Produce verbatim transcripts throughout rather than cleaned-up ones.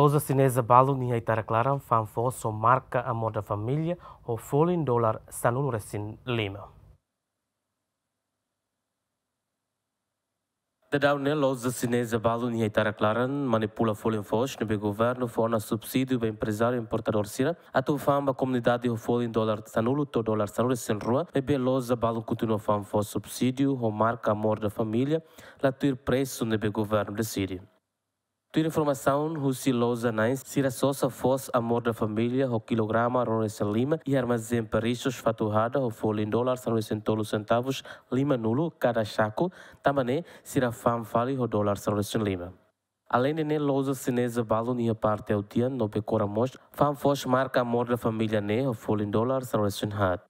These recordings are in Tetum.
Loja xineza balun iha Itarak Laran fa'an foos ho marka Amor da Família ho folin dolar sanulu resin lima. Daudaun ne'e loja xineza balun iha Itarak Laran manipula folin foos ne'ebé governu fó ona subsídiu ba emprezáriu importadór sira atu fa'an ba komunidade ho folin dolar sanulu to'o dolar sanulu resin rua, maibé loja balun kontinua fa'an foos subsídiu ho marka Amor da Família, la tuir presu ne'ebé governu deside. Tuir informasaun husi loja na'in, sira sosa foos Amor da Família ho kilograma ruanulu resin lima iha armazén Parissus Fatuhada ho folin dolar sanulu resin tolu sentavus lima nulu kada xaku, tanba ne'e sira fa'an fali ho dolar sanulu resin lima. Aleinde ne'e, loja xineza balun iha parte Autian no Becora mós fa'an foos marka Amor da Família ne'e ho folin dolar sanulu resin haat.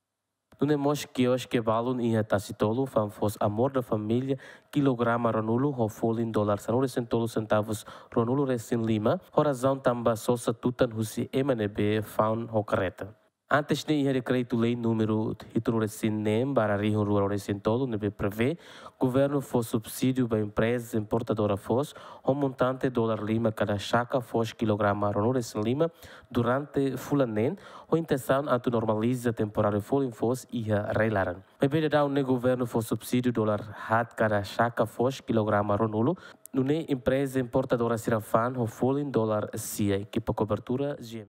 Nune'e mós kioske balun iha Tasitolu fa'an foos Amor da Família kilograma ruanulu ho folin dolar sanulu resin tolu sentavus ruanulu resin lima, ho razaun tanba sosa tutan husi ema ne'ebé fa'an ho karreta. Antes ne'e iha dekretu-lei númeru hitunulu resin neen barra rihun rua ruanulu resin tolu ne'ebé prevee governu fó subsídiu ba empreza importadora foos ho montante dolar lima kada xaka foos kilograma ruanulu resin lima durante fulan neen, ho intensaun atu normaliza temporáriu folin foos iha rai-laran. Maibé daudaun ne'e governu fó subsídiu dolar haat kada xaka foos kilograma ruanulu, nune'e empreza importadora sira fa'an ho folin dolar sia. Ekipa kobertura, G M.